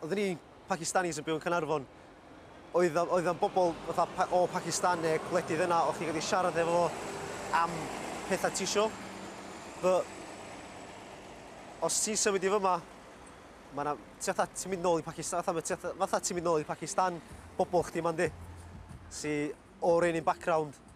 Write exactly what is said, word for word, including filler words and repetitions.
Oedden ni Pakistanis yn byw yn Caernarfon. Oedd oedd o'n bobl fatha o Pakistan neu gwledydd yna, o'ch chi'n gallu siarad efo fo am pethau ti isio. But os ti'n symud i fyma, ma' 'na, ti fatha, ti'n mynd nôl i Pakistan, fatha, fatha, fatha ti'n mynd nôl i Pakistan, bobl chdi ma'n di, sy o'r un un background.